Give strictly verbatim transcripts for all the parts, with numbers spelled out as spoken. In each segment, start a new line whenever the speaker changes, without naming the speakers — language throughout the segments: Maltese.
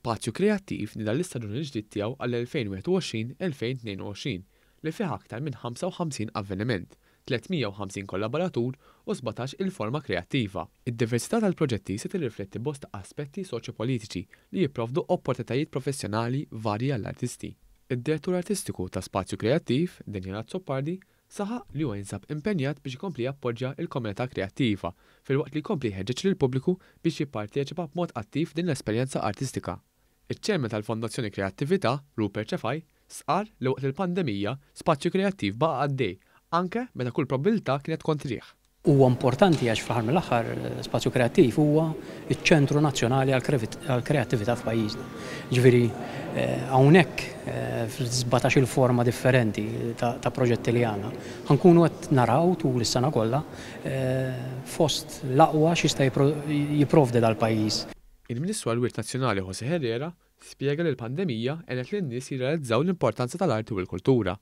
Spazju Kreattiv nieda l-istaġun il-ġdid tiegħu għall-elfejn u wieħed u għoxrin elfejn u tnejn u għoxrin li fih aktar minn ħamsa u ħamsin avveniment, tliet mija u ħamsin kollaboratur u sbatax il-forma kreattiva. Id-diversità tal-proġetti se tirrifletti bosta aspetti soċjopolitiċi li jipprovdu opportunitajiet professjonali varji għall-artisti. Id-direttur artistiku ta' Spazju Kreattiv, Daniel Azzopardi, saħaq li huwa jinsab impenjat biex ikompli jappoġġja il-komunità kreattiva filwaqt li jkompli jħeġġeġ lill-pubbliku biex jipparteċipa b'mod attiv din l-esperjenza artistika. Iċ-chairman tal-Fondazzjoni Kreattività, Rupert Cefai, stqarr li waqt il-pandemija Spazju Kreattiv baqa' għaddej anke meta kull probabilità kienet kontrih.
Huwa importanti għax fl-aħħar mill-aħħar Spazju Kreattiv huwa iċ-ċentru nazzjonali għall-kreattività f'pajjiżna. Ġifieri eh, hawnhekk eh, fil-sbatax il-forma differenti ta' proġetti li għandna, ħa nkunu qed naraw tul is-sena kollha eh, fost l-aqwa x'jista' jipprovdi dal-pajjiż.
Il-Ministru għall-Wirt Nazzjonali Jose Herrera spjega li l-pandemija għenet lin-nies jirrealizzaw l-importanza tal-arti u l-kultura.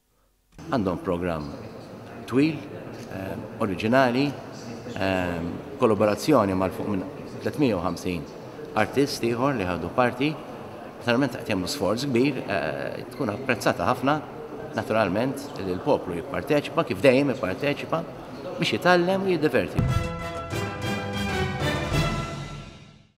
Għandhom programm twil, eh, oriġinali, eh, kollaborazzjoni ma' fuq minn tliet mija u ħamsin artist ieħor li ħadu parti. Naturalment qed jagħmlu sforz kbir, eh, tkun apprezzata ħafna, naturalment li l-poplu jipparteċipa kif dejjem jipparteċipa biex jitgħallem u jiddeverti.